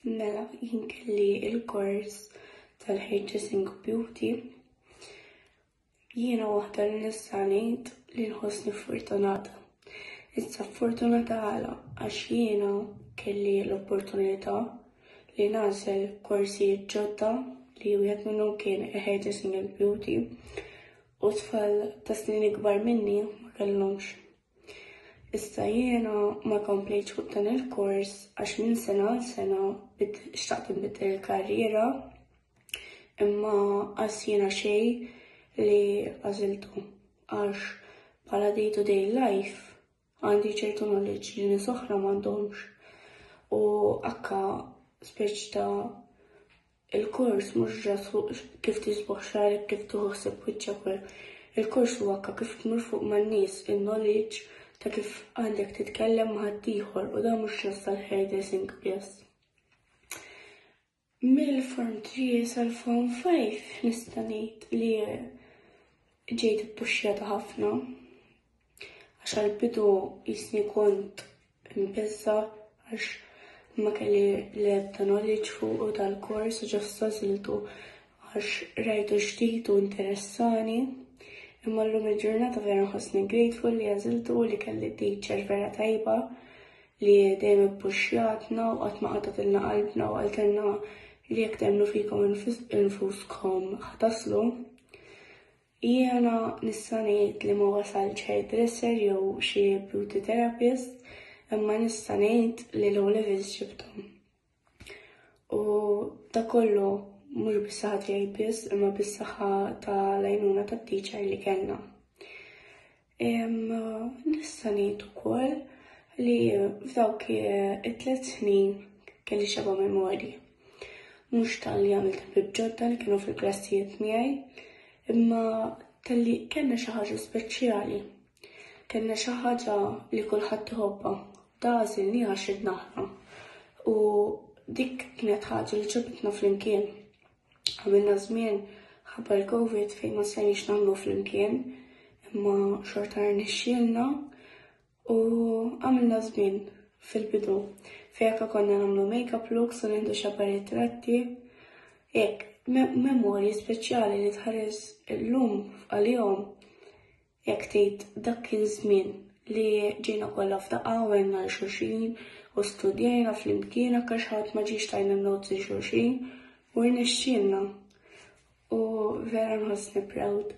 Mela, jien kelli il-kors tal-Hairdressing Beauty. Jiena waħda li nista' ngħid li nħossni fortunata. Issa fortunata għala għax jiena kelli l-opportunità li nagħżel korsijiet ġodda li wieħed minnhom kien il-Hairdressing and Beauty u tfal ta' snin ikbar minni ma kellhomx. Issa jiena ma komplejtx fuq dan il-kors għax minn sena għal sena xtaqt inbiddel il-karriera imma qas jiena xejn li għażiltu għax bħala day to day life għandi ċertu knowledge li nies oħra m'għandhomx u akka speċi ta' Il-kors mhux ġast fuq kif tisboħ xagħrek, kif tieħu ħsieb wiċċek u Il-kors huwa anke kif tmur fuq man-nies, in-knowledge ta' kif għandek titkellem ma' ħaddieħor u dan mhux ġast għall-hairdressing biss. Mill-Form 3 sal-Form 5 nista' ngħid li ġejt ippuxxjata ħafna għax għall-bidu jisni kont imbeżża' għax ma kelli l-ebda knowledge fuqu dal-kors u just għażiltu għax rajtu ġdid u interessani. Imma llum il-ġurnata vera nħossni grateful li għażiltu u li kelli teacher vera tajba li dejjem ippuxxjatna u qatt ma qatgħetilna qalbna u qaltilna li jekk temmnu fikom infuskom ħa taslu. Jiena nista' ngħid li ma wasaltx hairdresser jew xi beauty therapist, imma nista' ngħid li l-O levels ġibthom. U da kollu mhux bis-saħħa tiegħi biss, imma bis-saħħa tal-għajnuna tat-teacher li kellna. Nista' ngħid ukoll li f'dawk it-tliet snin kelli xeba' memorji. Mhux talli għamilt ħbieb ġodda li kienu fil-klassijiet miegħi, imma talli kellna xi ħaġa speċjali. Kellna xi ħaġa li kulħadd iħobbha. Da għażilniha għax ridna aħna. U dik kienet ħaġa li ġabitna flimkien. Għamilna żmien ħabba l-Covid fejn ma stajniex nagħmlu flimkien, imma xorta rnexxielna u għamilna żmien fil-bidu fejn anke konna nagħmlu make-up looks u nieħdu xaba ritratti. Hekk, memorji speċjali li tħares illum għalihom Jekk tgħid dak kien żmien li ġejna kollha f'daqqa u għenna 'l xulxin u studjajna flimkien anke xi ħadd ma ġiex tajna n-notes lil xulxin u rnexxielna. U vera nħossni proud.